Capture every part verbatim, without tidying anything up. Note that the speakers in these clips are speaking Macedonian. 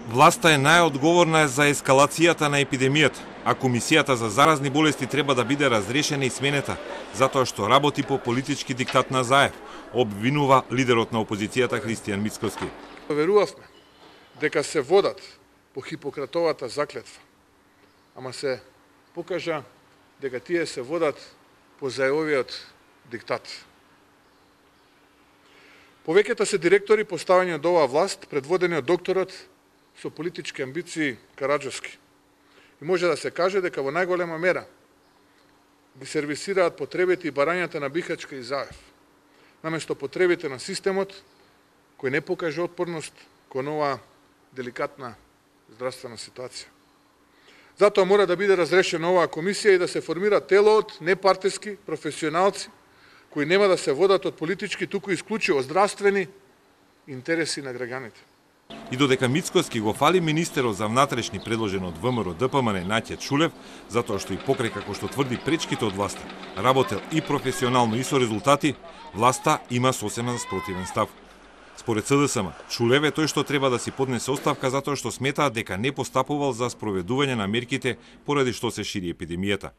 Власта е најодговорна за ескалацијата на епидемијата, а Комисијата за заразни болести треба да биде разрешена и сменета, затоа што работи по политички диктат на Заев, обвинува лидерот на опозицијата Христијан Мицкоски. Верувавме дека се водат по Хипократовата заклетва, ама се покажа дека тие се водат по Заевовиот диктат. Повеќето се директори поставени од оваа власт, предводени од докторот со политички амбиции Караджовски. И може да се каже дека во најголема мера ги сервисираат потребите и барањата на Бихачка и Заев, наместо потребите на системот кој не покажа отпорност кон оваа деликатна здравствена ситуација. Затоа мора да биде разрешена оваа комисија и да се формира тело од непартиски професионалци кои нема да се водат од политички, туку исклучиво здравствени интереси на граѓаните. И додека Мицкоски го фали министерот за внатрешни предложен од ВМРО Д П М Н Наќе Чулев, затоа што и покрај како што тврди пречките од власта, работел и професионално и со резултати, власта има сосема спротивен став. Според С Д С М, Чулев е тој што треба да си поднесе оставка затоа што сметаат дека не постапувал за спроведување на мерките поради што се шири епидемијата.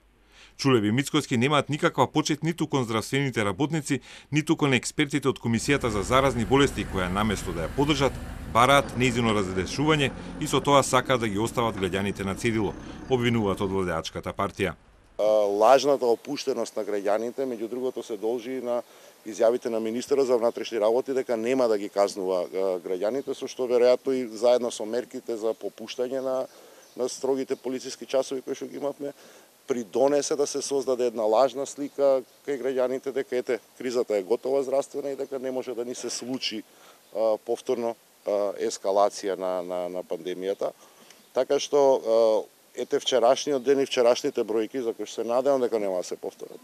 Чулев и Мицкоски немаат никаква почет ниту кон здравствените работници, ниту кон експертите од Комисијата за заразни болести, која наместо да ја поддржат, бараат нејзино разрешување и со тоа сакаат да ги остават граѓаните на цедило, обвинуваат од владеачката партија. Лажната опуштеност на граѓаните, меѓу другото, се должи на изјавите на министерот за внатрешни работи дека нема да ги казнува граѓаните, со што веројатно и заедно со мерките за попуштање на, на строгите полициски часови кои што ги имавме, придонесе да се создаде една лажна слика кај граѓаните дека ете кризата е готова здравствена и дека не може да ни се случи а, повторно а, ескалација на, на, на пандемијата. Така што а, ете вчерашниот ден и вчерашните бројки, за кои се надевам дека нема да се повторат.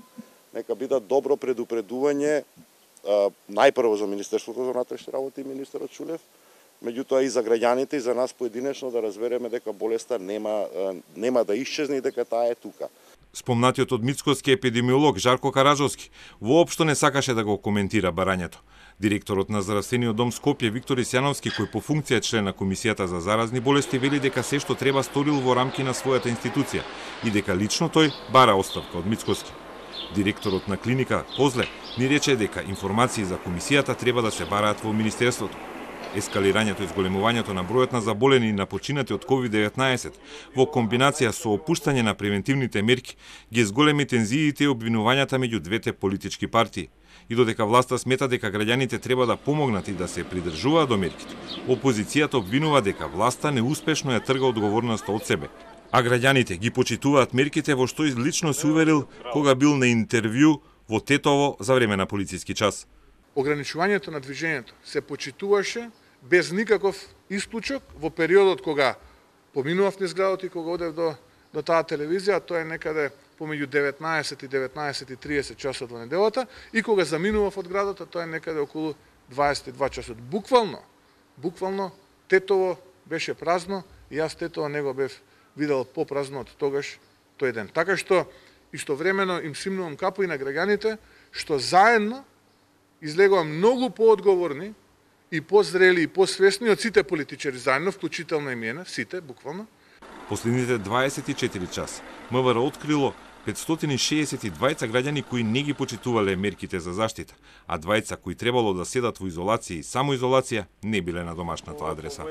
Нека бидат добро предупредување а, најпрво за Министерството за внатрешни работи и министерот Чулев, меѓутоа и за граѓаните и за нас поединечно да разбереме дека болеста нема нема да исчезне и дека таа е тука. Спомнатиот од Мицкоски епидемиолог Жарко Караджовски воопшто не сакаше да го коментира барањето. Директорот на здравствениот дом Скопје Виктор Исјановски, кој по функција е член на Комисијата за заразни болести, вели дека се што треба сторил во рамки на својата институција и дека лично тој бара оставка од Мицкоски. Директорот на клиника Козле ни рече дека информации за комисијата треба да се бараат во министерството. Ескалирањето и зголемувањето на бројот на заболени и на починати од ковид деветнаесет во комбинација со опуштање на превентивните мерки ги зголеми тензиите и обвинувањата меѓу двете политички партии. И додека власта смета дека граѓаните треба да помогнат и да се придржуваат до мерките, опозицијата обвинува дека власта неуспешно ја трга одговорноста од себе. А граѓаните ги почитуваат мерките во што лично се уверил кога бил на интервју во Тетово за време на полициски час. Ограничувањето на движењето се почитуваше без никаков исклучок во периодот кога поминував низ градот и кога одев до, до таа телевизија, тоа е некаде помеѓу деветнаесет и деветнаесет и триесет часот во неделата, и кога заминував од градот, тоа е некаде околу дваесет и два часот. Буквално, буквално Тетово беше празно и јас Тетово не го бев видел попразно од тогаш тој ден. Така што истовремено им симнувам капу и на граѓаните што заедно излегува многу поодговорни и позрели и посвесни од сите политичари заедно, вклучително и мене, сите, буквално. Последните дваесет и четири часа М В Р открило петстотини шеесет и двајца граѓани кои не ги почитувале мерките за заштита, а двајца кои требало да седат во изолација и самоизолација не биле на домашната адреса.